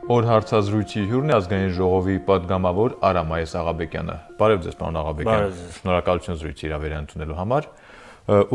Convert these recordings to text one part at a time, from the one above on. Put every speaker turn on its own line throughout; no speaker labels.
Օր հարցազրույցի հյուրն է ազգային ժողովի պատգամավոր Արամ Աղաբեկյանը։ Բարև ձեզ, պարոն Աղաբեկյան։ Շնորհակալություն զրույցի իրավեր ընդունելու համար։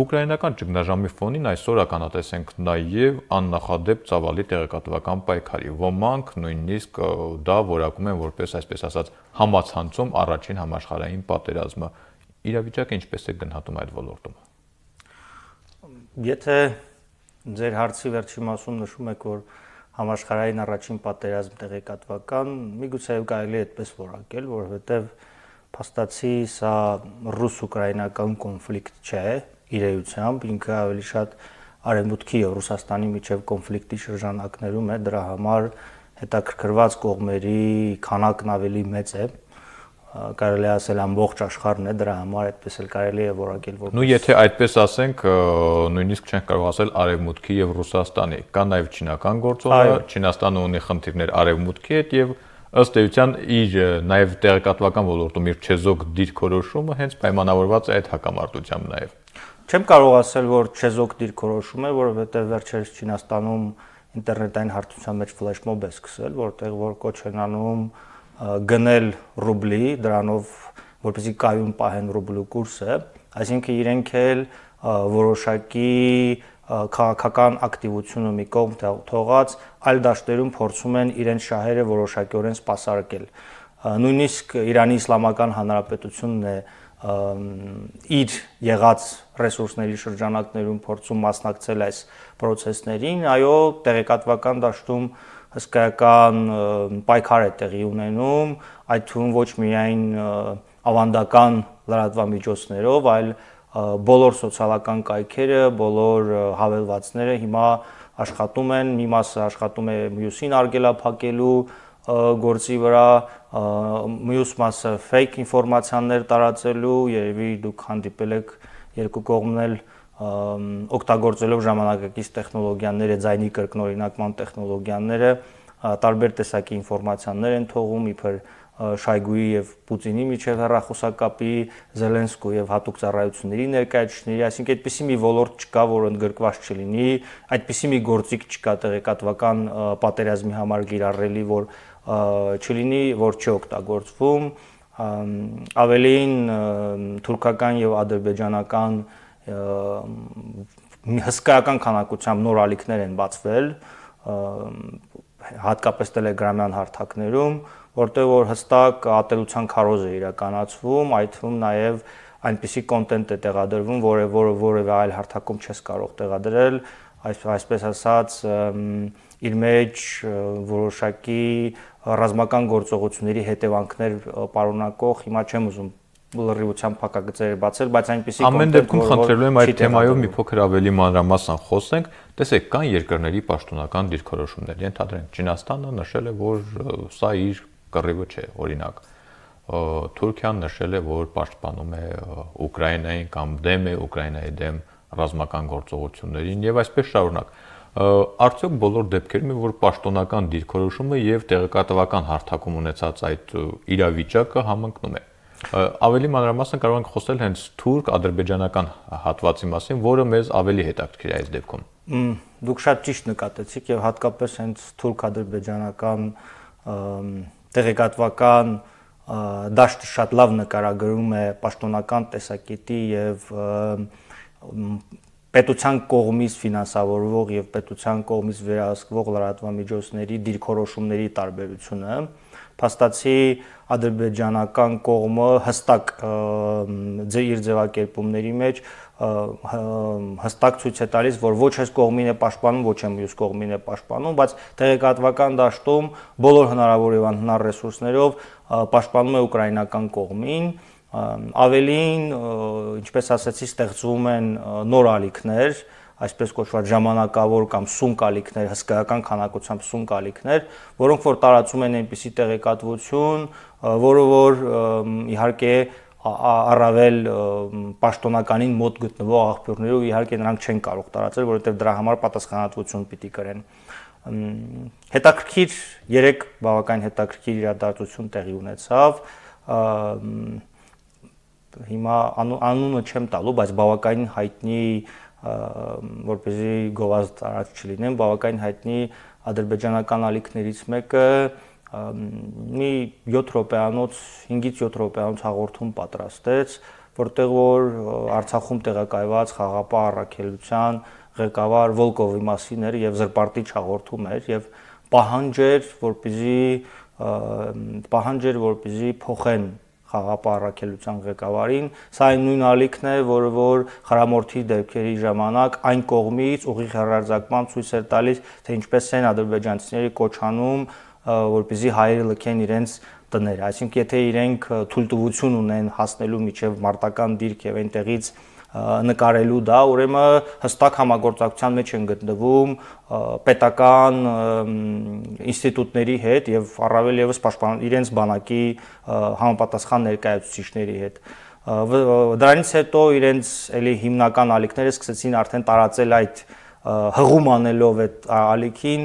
Ուկրաինական ճգնաժամի ֆոնին այսօր ականատեսենք նաև աննախադեպ ծավալի տեղեկատվական պայքարի։ Ոմանք նույնիսկ դա որակում են որպես, այսպես ասած, համացանցում առաջին համաշխարհային պատերազմը։ Իրավիճակը ինչպես է գնահատում այդ ոլորտում։
Եթե ձեր հարցի վերջի մասում նշում եք, որ համաշխարհային առաջին պատերազմ տեղեկատվական, միգուցե կարելի է այդպես որակել, որովհետև փաստացի սա ռուս-ուկրաինական կոնֆլիկտ չէ իր էությամբ, ինքը ավելի շատ Արևմուտքի եւ Ռուսաստանի միջև կոնֆլիկտի շրջանակներում է, դրա համար հետաքրքրված կողմերի քանակն ավելի մեծ է, կարելի է ասել ամբողջ աշխարհն է, դրա համար այդպես էլ կարելի է որակել որպես։
Ну, եթե այդպես ասենք, նույնիսկ չենք կարող ասել Արևմուտքի եւ Ռուսաստանի, կա նաեւ չինական գործոնը, Չինաստանը ունի խնդիրներ Արևմուտքի հետ եւ ըստ էության իր նաեւ տեղեկատվական ոլորտում իր չեզոք դիրքորոշումը հենց պայմանավորված է այդ հակամարտությամբ նաեւ։
Չեմ կարող ասել, որ չեզոք դիրքորոշում է, որովհետեւ վերջերս Չինաստանում ինտերնետային հարթության մեջ ֆլեշմոբ է սկսել, որտեղ որ կոչ են անում գնել ռուբլի, դրանով որպեսզի կայուն պահեն ռուբլու կուրսը, այսինքն իրենք էլ որոշակի քաղաքական ակտիվությունը մի կողմ թողած այլ դաշտերում փորձում են իրենց շահերը որոշակիորեն սպասարկել։ Նույնիսկ Իրանի Իսլամական Հանրապետությունն է իր եղած ռեսուրսների շրջանակներում փորձում մասնակցել այս process-ներին, այո, տեղեկատվական դաշտում հսկայական պայքար է տեղի ունենում, այդ թվում ոչ միայն ավանդական լրատվամիջոցներով, այլ բոլոր սոցիալական կայքերը, բոլոր հավելվածները հիմա աշխատում են, մի մասը աշխատում է մյուսին արգելափակելու գործի վրա, մյուս մասը fake ինֆորմացիաներ տարածելու, երևի դուք հանդիպել եք երկու կողմն էլ օգտագործելով ժամանակակից տեխնոլոգիաները, ձայնի կրկնօրինակման տեխնոլոգիաները, տարբեր տեսակի ինֆորմացիաներ են թողում, իբր Շայգուի եւ Պուտինի միջև հեռախոսակապի, Զելենսկու եւ հատուկ ծառայությունների ներկայացուցիչների, այսինքն այդպիսի մի ոլորտ չկա, որ ընդգրկված չլինի, այդպիսի մի գործիք չկա տեղեկատվական պատերազմի համար կիրառելի, որ չլինի, որ չի օգտագործվում, ավելին թուրքական եւ ադրբեջանական հսկայական քանակությամբ նոր ալիքներ են բացվել, հատկապես տելեգրամյան հարթակներում, որտեղ որ հստակ ատելության քարոզ է իրականացվում, այդ թվում նաև այնպիսի կոնտենտ է տեղադրվում, որևէ այլ հարթակում չես կարող տեղադրել, այսպես ասած, իր մեջ որոշակի ռազմական գործողությունների հետևանքներ պարունակող, հիմա չեմ ուզում լրիվությամբ փակագծեր բացել, բայց այնպիսի
ամեն դեպքում խնդրելու եմ այդ թեմայով մի փոքր ավելի մանրամասն խոսենք, տեսեք, կան երկրների պաշտոնական դիրքորոշումներ, ենթադրենք Չինաստանը նշել է, որ սա իր կռիվը չէ, օրինակ Թուրքիան նշել է, որ պաշտպանում է Ուկրաինային կամ դեմ է Ուկրաինայի դեմ ռազմական գործողություններին եւ այսպես շարունակ։ Արդյոք բոլոր դեպքերում է, որ պաշտոնական դիրքորոշումը եւ տեղեկատվական հարթակում ունեցած այդ իրավիճակը համընկնում է։ Ավելի մանրամասն կարող ենք խոսել հենց թուրք-ադրբեջանական հատվածի մասին, որը մեզ ավելի հետաքրքիր է այս դեպքում։
Դուք շատ ճիշտ նկատեցիք եւ հատկապես հենց թուրք-ադրբեջանական տեղեկատվական դաշտը շատ լավ նկարագրում է պաշտոնական տեսակետի եւ պետության կողմից ֆինանսավորվող եւ պետության կողմից վերահսկվող լրատվամիջոցների դիրքորոշումների տարբերությունը, փաստացի ադրբեջանական կողմը հստակ իր ձևակերպումների մեջ հստակ ցույց է տալիս, որ ոչ այս կողմին է պաշտպանում, ոչ եմ մյուս կողմին է պաշտպանում, բայց տեղեկատվական դաշտում բոլոր հնարավոր եւ անհնար ռեսուրսներով պաշտպանում է ուկրաինական կողմին, ավելին, ինչպես ասացի, ստեղծվում են նոր ալիքներ, այսպես կոչված ժամանակավոր կամ սունկ ալիքներ, հսկայական քանակությամբ սունկ ալիքներ, որոնք որ տարածում են այնպիսի տեղեկատվություն, որը որ իհարկե առավել պաշտոնականին մոտ գտնվող աղբյուրներով իհարկե նրանք չեն կարող տարածել, որովհետև դրա համար պատասխանատվություն պիտի կրեն։ Հետաքրքիր երեք բավական հետաքրքիր իրադարձություն տեղի ունեցավ, հիմա անունը չեմ տալու, բայց բավականին հայտնի որպեսզի գովազդ արած չլինեն, բավականին հայտնի ադրբեջանական ալիքներից մեկը մի 7 րոպեանոց, 5-ից 7 րոպեանոց հաղորդում պատրաստեց, որտեղ որ Արցախում տեղակայված խաղապահ առաքելության ղեկավար Վոլկովի մասին էր եւ զրպարտիչ հաղորդում էր եւ պահանջ էր, որպեսզի փոխեն խաղապահ առաքելության ղեկավարին, սա այն նույն ալիքն է, որը որ խրամորդի դեպքերի ժամանակ այն կողմից ուղիղ հեռարձակման ցույց էր տալիս, թե ինչպես են ադրբեջանցիների կոչ անում, որպեսզի հայերը լքեն իրենց տները, այսինքն եթե իրենք թույլտվություն ունեն հասնելու միջև մարտական դիրք եւ այնտեղից նկարելու դա, ուրեմն հստակ համագործակցության մեջ են գտնվում պետական ինստիտուտների հետ եւ առավել եւս իրենց բանակի համապատասխան ներկայացուցիչների հետ։ Դրանից հետո իրենց էլի հիմնական ալիքները սկսեցին արդեն տարածել այդ հղում անելով այդ ալիքին,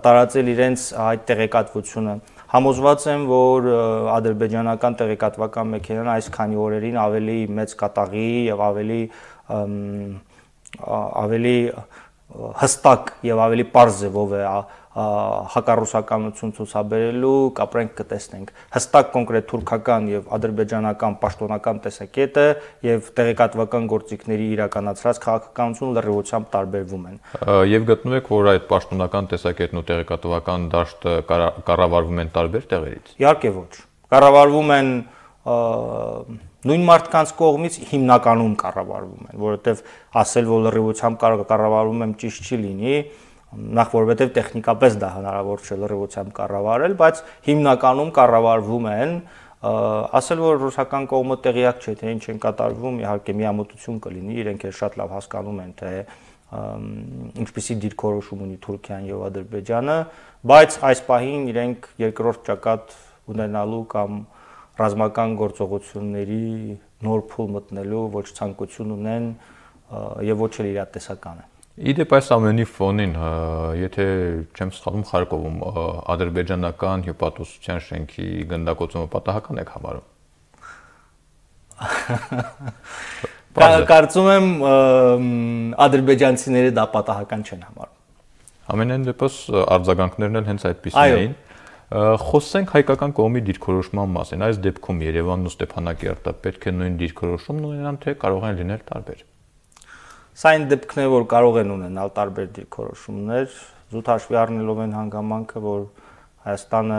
տարածել իրենց այդ տեղեկատվությունը։ Համոզված եմ, որ ադրբեջանական տեղեկատվական մեքենան այս քանի օրերին ավելի մեծ կատաղի եւ ավելի հստակ եւ ավելի պարզ ձևով է հակառուսականություն ցուցաբերելու, կապրենք կտեսնենք։ Հստակ կոնկրետ թուրքական եւ ադրբեջանական պաշտոնական տեսակետը եւ տեղեկատվական գործիքների իրականացրած քաղաքականությունը լրիվությամբ տարբերվում են։
Եվ գտնում եք, որ այդ պաշտոնական տեսակետն ու տեղեկատվական դաշտը կառավարվում են տարբեր տեղերից։
Իհարկե ոչ։ Կառավարվում են նույն մարդկանց կողմից հիմնականում կառավարվում են, որովհետեւ ասել, որ լրիվությամբ կառավարվում են ճիշտ չի լինի, նախ որովհետև տեխնիկապես դա հնարավոր չէ լրիվությամբ կառավարել, բայց հիմնականում կառավարվում են, ասել որ ռուսական կողմը տեղյակ չէ, թե ինչ են կատարվում, իհարկե միամտություն կլինի, իրենք էլ շատ լավ հասկանում են, թե ինչպիսի դիրքորոշում ունի Թուրքիան եւ Ադրբեջանը, բայց այս պահին իրենք երկրորդ ճակատ ունենալու կամ ռազմական գործողությունների նոր փուլ մտնելու ոչ ցանկություն ունեն եւ ոչ էլ իրատեսական է։
Իդեպ այս ամենի ֆոնին, եթե չեմ սխալվում, Խարկովում ադրբեջանական հյուպատոսության շենքի գնդակոծումը պատահական եք համարում։
Կարծում եմ ադրբեջանցիները դա պատահական չեն համարում։
Ամենայն դեպս արձագանքներն էլ հենց այդպիսին էին։ Խոսենք հայկական կողմի դիրքորոշման մասին։ Այս դեպքում Երևանն ու Ստեփանակերտը պետք է նույն դիրքորոշումն ունենան, թե կարող են լինել տարբեր։
Սա այն դեպքն է, որ կարող են ունենալ տարբեր դիրքորոշումներ, զուտ հաշվի առնելով այն հանգամանքը, որ Հայաստանը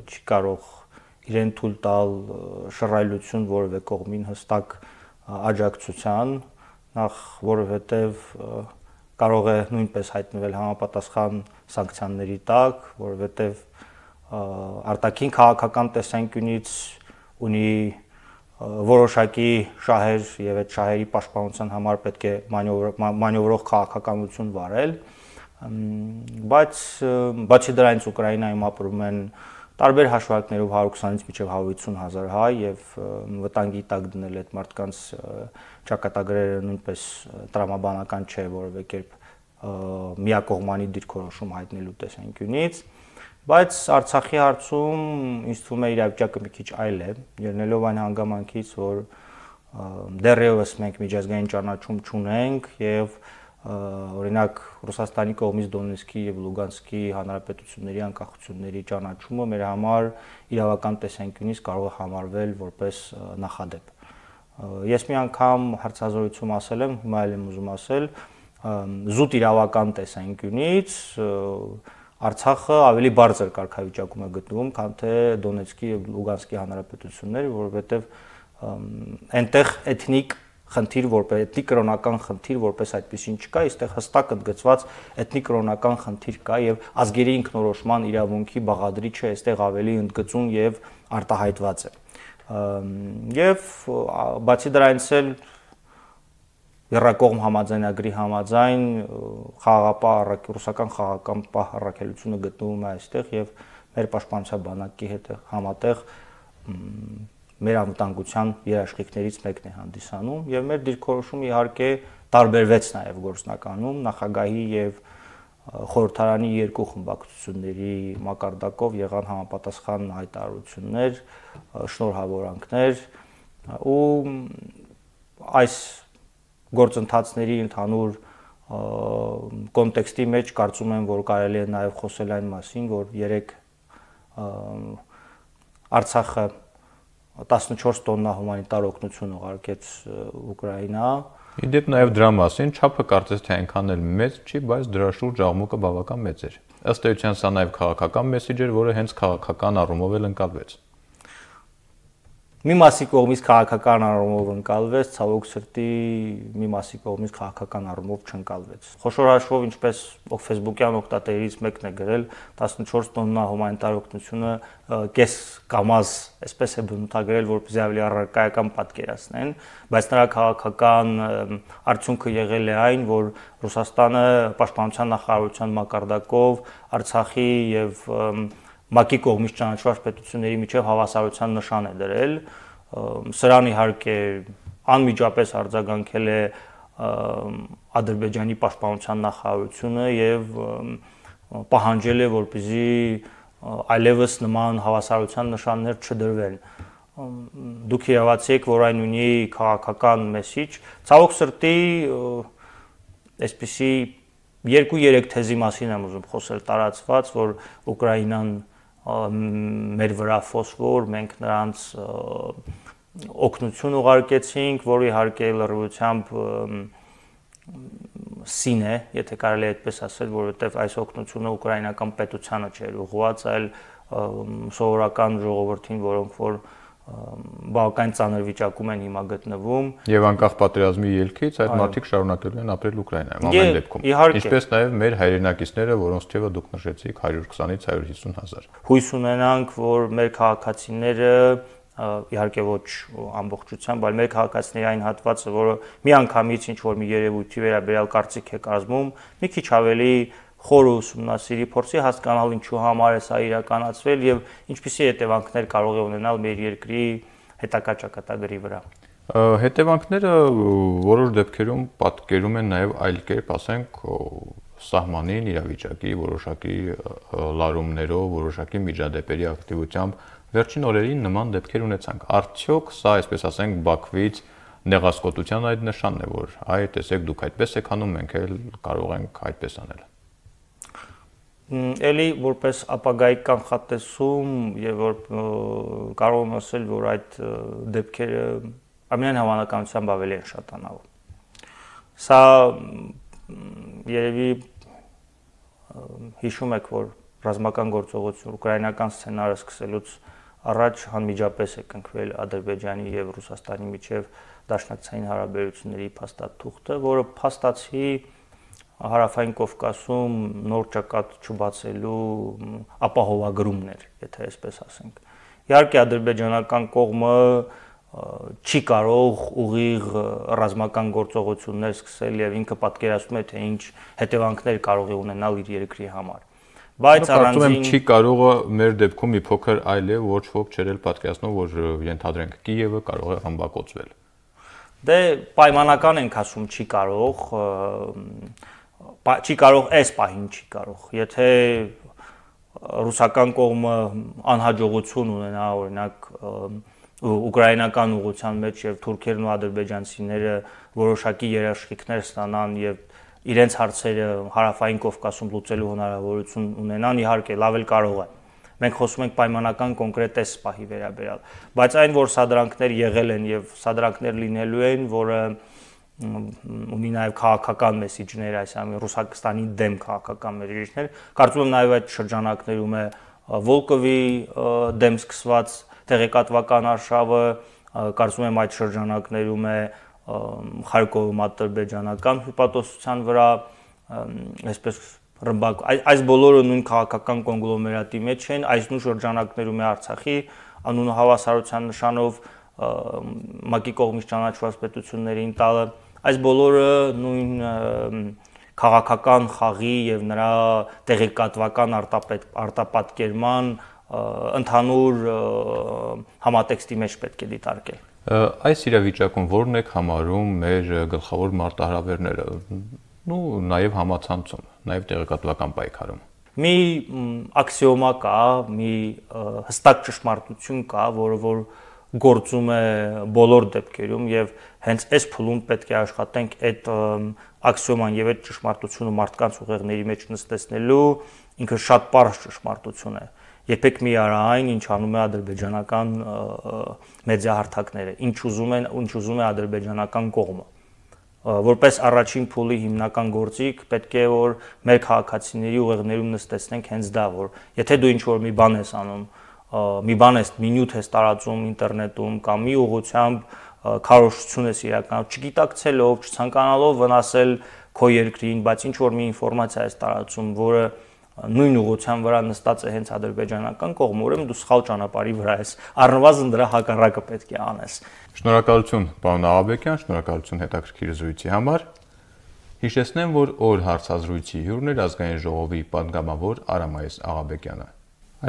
չի կարող իրեն թույլ տալ շռայլություն որևէ կողմին հստակ աջակցության, նախ որովհետև կարող է նույնպես հայտնվել համապատասխան սանկցիաների տակ, որովհետև արտաքին քաղաքական տեսանկյունից ունի որոշակի շահեր եւ այդ շահերի պաշտպանության համար պետք է մանյովրող քաղաքականություն վարել, բայց բացի դրանից Ուկրաինայում ապրում են տարբեր հաշվարկներով 120-ից մինչև 150,000 հայ եւ վտանգի տակ դնել այդ մարդկանց ճակատագրերը նույնպես տրամաբանական չէ որևէ կերպ միակողմանի դիրքորոշում հայտնելու տեսանկյունից, բայց Արցախի հարցում ինձ թվում է իրավիճակը մի քիչ այլ է, ելնելով այն հանգամանքից, որ դեռևս մենք միջազգային ճանաչում չունենք եւ օրինակ Ռուսաստանի կողմից Դոնեցկի եւ Լուգանսկի հանրապետությունների անկախությունների ճանաչումը մեր համար իրավական տեսանկյունից կարող է համարվել որպես նախադեպ։ Ես մի անգամ հարցազրույցում ասել եմ, հիմա էլ եմ ուզում ասել, զուտ իրավական տեսանկյունից Արցախը ավելի բարձր կարգավիճակում է գտնվում, քան թե Դոնեցկի եւ Լուգանսկի հանրապետությունները, որովհետեւ այնտեղ էթնիկ խնդիր որպես էթնիկ կրոնական խնդիր որպես այդպեսին չկա, այստեղ հստակ ընդգծված էթնիկ կրոնական խնդիր կա եւ ազգերի ինքնորոշման իրավունքի բաղադրիչը այստեղ ավելի ընդգծում եւ արտահայտված է։ Եվ բացի դրանից էլ Եռակողմ համաձայնագրի համաձայն ռուսական խաղաղապահ առաքելությունը գտնվում է այստեղ եւ մեր պաշտպանության բանակի հետ համատեղ մեր անվտանգության երաշխիքներից մեկն է հանդիսանում եւ մեր դիրքորոշումը իհարկե տարբերվեց նաեւ գործնականում նախագահի եւ խորհրդարանի երկու խմբակցությունների մակարդակով եղան համապատասխան հայտարարություններ, շնորհավորանքներ ու այս գործընթացների ընդհանուր կոնտեքստի մեջ կարծում եմ, որ կարելի է նաև խոսել այն մասին, որ երեք Արցախը 14 տոննա հումանիտար օգնություն ուղարկեց Ուկրաինա։
Իդեպ նաև դրա մասին չափը կարծես թե այնքան էլ մեծ չի, բայց դրա շուրջ աղմուկը բավական մեծ էր։ Ըստ էության սա նաև քաղաքական մեսիջ էր, որը հենց քաղաքական առումով էլ ընկալվեց։
Մի մասի կողմից քաղաքական առումով ընկալվեց, ցավոք սրտի մի մասի կողմից քաղաքական առումով չընկալվեց։ Խոշոր հաշվով, ինչպես Facebook-յան օգտատերերից մեկն է գրել, 14 տոննա հումանիտար օգնությունը կես կամազ, այսպես է բնութագրել, որպեսզի ավելի առարկայական պատկերացնեն, բայց նրա քաղաքական արդյունքը եղել է այն, որ Ռուսաստանը պաշտպանության նախարարության մակարդակով Արցախի եւ ՄԱԿ-ի կողմից ճանաչված պետությունների միջև հավասարության նշան է դրել։ Սրան իհարկե անմիջապես արձագանքել է Ադրբեջանի պաշտպանության նախարարությունը եւ պահանջել է, որպեսզի այլևս նման հավասարության նշաններ չդրվեն։ Դուք իրավացի եք, որ այն ունի քաղաքական մեսիջ։ Ցավոք սրտի այսպիսի 2-3 թեզի մասին եմ ուզում խոսել տարածված, որ Ուկրաինան մեր վրա ֆոսֆոր, մենք նրանց օգնություն ուղարկեցինք, որ իհարկե լրիվությամբ սին է, եթե կարելի է այդպես ասել, որովհետև այս օգնությունը ուկրաինական պետությանը չէր ուղղված, այլ սովորական ժողովրդին, որոնք որ բավական ծանր վիճակում են հիմա գտնվում։
Եվ անկախ պատերազմի ելքից այդ մարդիկ շարունակելու են ապրել Ուկրաինայում ամեն դեպքում։ Ինչպես նաև մեր հայրենակիցները, որոնց թիվը դուք նշեցիք 120-ից 150 հազար։
Հույս ունենանք, որ մեր քաղաքացիները, իհարկե ոչ ամբողջությամբ, այլ մեր քաղաքացիների այն հատվածը, որը միանգամից ինչ որ մի երևույթի վերաբերյալ կարծիք է կազմում, մի քիչ ավելի խոր ուսումնասիրի, փորձի հասկանալ ինչու համար է սա իրականացվել եւ ինչպիսի հետևանքներ կարող է ունենալ մեր երկրի հետագա ճակատագրի վրա։
Հետևանքները որոշ դեպքերում պատկերում են նաեւ այլ կերպ, ասենք, սահմանին իրավիճակի որոշակի լարումներով, որոշակի միջադեպերի ակտիվությամբ վերջին օրերին նման դեպքեր ունեցանք։ Արդյոք սա, այսպես ասենք, Բաքվից նեղասկոտության այդ նշանն է, որ այ տեսեք դուք այդպես եք անում, մենք էլ կարող ենք այդպես անել։
Էլի որպես ապագայի կանխատեսում եւ որ կարող եմ ասել, որ այդ դեպքերը ամենայն հավանականությամբ ավելի են շատանալու։ Սա երևի հիշում եք, որ ռազմական գործողություն ուկրաինական սցենարը սկսելուց առաջ անմիջապես է կնքվել Ադրբեջանի եւ Ռուսաստանի միջև դաշնակցային հարաբերությունների փաստաթուղթը, որը փաստացի Հարավային Կովկասում նոր ճակատ չբացելու ապահովագրումներ, եթե այսպես ասենք։ Իհարկե ադրբեջանական կողմը չի կարող ուղիղ ռազմական գործողություններ սկսել եւ ինքը պատկերացնում է, թե ինչ հետևանքներ կարող է ունենալ իր երկրի համար։ Բայց
առանձին չի կարողը մեր դեպքում մի փոքր այլ է, ոչ ոք չէր պատկերացնում, որ ենթադրենք Կիևը կարող է ռմբակոծվել։
Դե պայմանական ենք ասում չի կարող այս պահին չի կարող։ Եթե ռուսական կողմը անհաջողություն ունենա, օրինակ ուկրաինական ուղղության մեջ եւ թուրքերն ու ադրբեջանցիները որոշակի երաշխիքներ ստանան եւ իրենց հարցերը Հարավային Կովկասում լուծելու հնարավորություն ունենան, իհարկե լավ էլ կարող է։ Մենք խոսում ենք պայմանական կոնկրետ այս պահի վերաբերյալ, բայց այն որ սադրանքներ եղել են եւ սադրանքներ լինելու են, որը ունի նաև քաղաքական մեսիջներ, այսինքն Ռուսաստանի դեմ քաղաքական մեսիջներ, կարծում եմ նաև այդ շրջանակներում է Վոլկովի դեմ սկսված տեղեկատվական արշավը, կարծում եմ այդ շրջանակներում է Խարկովի ադրբեջանական հյուպատոսության վրա, այսպես ռմբակ, այս բոլորը նույն քաղաքական կոնգլոմերատի մեջ են, այս նույն շրջանակներում է Արցախի անունը հավասարության նշանով ՄԱԿ-ի կողմից ճանաչված պետություններին տալը, այս բոլորը նույն քաղաքական խաղի եւ նրա տեղեկատվական արտապատկերման ընդհանուր համատեքստի մեջ պետք է դիտարկել։
Այս իրավիճակում ո՞րն եք համարում մեր գլխավոր մարտահրավերները, ու նաև համացանցում, նաև տեղեկատվական պայքարում։
Մի աքսիոմա կա, մի հստակ ճշմարտություն կա, որը որ գործում է բոլոր դեպքերում եւ հենց այս փուլում պետք է աշխատենք այդ աքսիոման եւ այդ ճշմարտությունը մարդկանց ուղեղների մեջ նստեցնելու ինքը շատ պարզ ճշմարտություն է։ Երբեք մի արա այն, ինչ անում է ադրբեջանական մեդիահարթակները, ինչ ուզում է ադրբեջանական կողմը։ Որպես առաջին փուլի հիմնական գործիք պետք է որ մեր քաղաքացիների ուղեղներում նստեցնենք հենց դա, որ եթե դու ինչ-որ մի բան ես անում, մի նյութ ես տարածում ինտերնետում կամ մի ուղղությամբ քարոզչություն ես իրականում, չգիտակցելով, չցանկանալով վնասել քո երկրին, բայց ինչ-որ մի ինֆորմացիա ես տարածում, որը նույն ուղղության վրա նստած է հենց ադրբեջանական կողմը, ուրեմն դու սխալ ճանապարհի վրա ես, առնվազն դրա հակառակը պետք է անես։
Շնորհակալություն, պարոն Աղաբեկյան, շնորհակալություն հետաքրքիր զրույցի համար։ Հիշեցնեմ, որ օր հարցազրույցի հյուրն էր Ազգային ժողովի պատգամավոր Արամայես Աղաբեկյանը։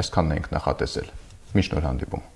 Այսքանն ենք նախատեսել։ Մինչ նոր հանդիպում։